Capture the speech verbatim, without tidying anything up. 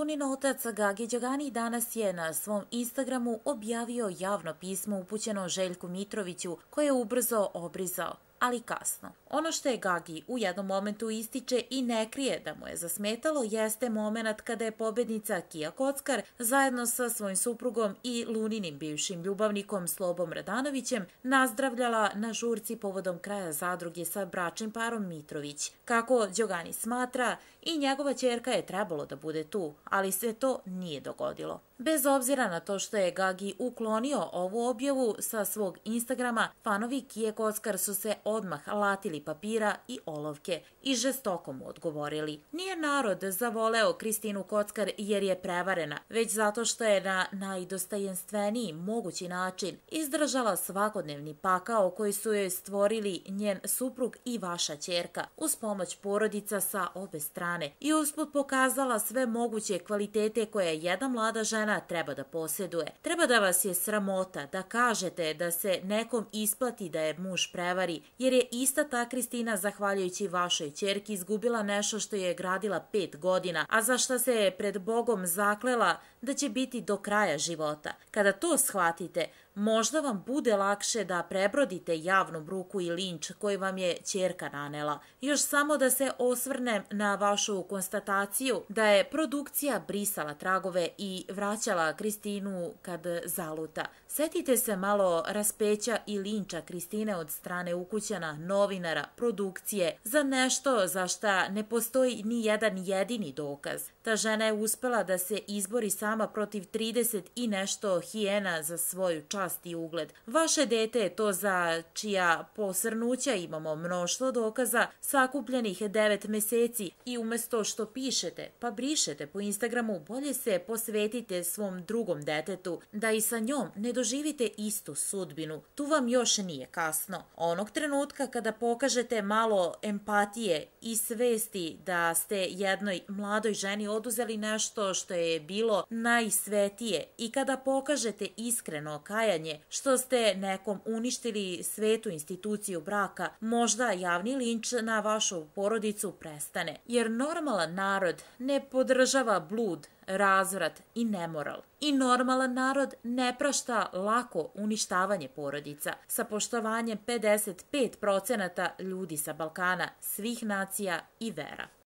Lunin otac Gagi Đogani danas je na svom Instagramu objavio javno pismo upućeno Željku Mitroviću koje je ubrzo obrizao, ali kasno. Ono što je Gagi u jednom momentu ističe i ne krije da mu je zasmetalo jeste moment kada je pobednica Kija Kockar zajedno sa svojim suprugom i Luninim bivšim ljubavnikom Slobom Radanovićem nazdravljala na žurci povodom kraja zadruge sa bračnim parom Mitrović. Kako Đogani smatra, i njegova ćerka je trebalo da bude tu, ali se to nije dogodilo. Bez obzira na to što je Gagi uklonio ovu objavu sa svog Instagrama, fanovi Kije Kockar su se odmah latili papira i olovke i žestoko mu odgovorili. Nije narod zavoleo Kristinu Kockar jer je prevarena, već zato što je na najdostojanstveniji mogući način izdržala svakodnevni pakao koji su joj stvorili njen suprug i vaša ćerka uz pomoć porodica sa obe strane i usput pokazala sve moguće kvalitete koje jedna mlada žena treba da posjeduje. Treba da vas je sramota da kažete da se nekom isplati da je muž prevari, jer je ista ta Kristina zahvaljujući vašoj ćerki izgubila nešto što je gradila pet godina, a za što se je pred Bogom zaklela da će biti do kraja života. Kada to shvatite, možda vam bude lakše da prebrodite javnu bruku i linč koji vam je ćerka nanela. Još samo da se osvrnem na vašu konstataciju da je produkcija brisala tragove i vraćala Kristinu kad zaluta. Setite se malo raspeća i linča Kristine od strane ukućana, novinara, produkcije za nešto za šta ne postoji ni jedan jedini dokaz. Ta žena je uspela da se izbori sama protiv trideset i nešto hijena za svoju čast i ugled. Vaše dete je to za čija posrnuća imamo mnoštvo dokaza sakupljenih devet meseci i umesto što pišete pa brišete po Instagramu, bolje se posvetite svom drugom detetu da i sa njom ne doživite istu sudbinu. Tu vam još nije kasno. Onog trenutka kada pokažete malo empatije i svesti da ste jednoj mladoj ženi oduzeli nešto što je bilo najsvetije i kada pokažete iskreno kajanje što ste nekom uništili svetu instituciju braka, možda javni linč na vašu porodicu prestane. Jer normalan narod ne podržava blud, razvrat i nemoral. I normalan narod ne prašta lako uništavanje porodica. Sa poštovanjem pedeset pet procenata ljudi sa Balkana, svih nacija i vera.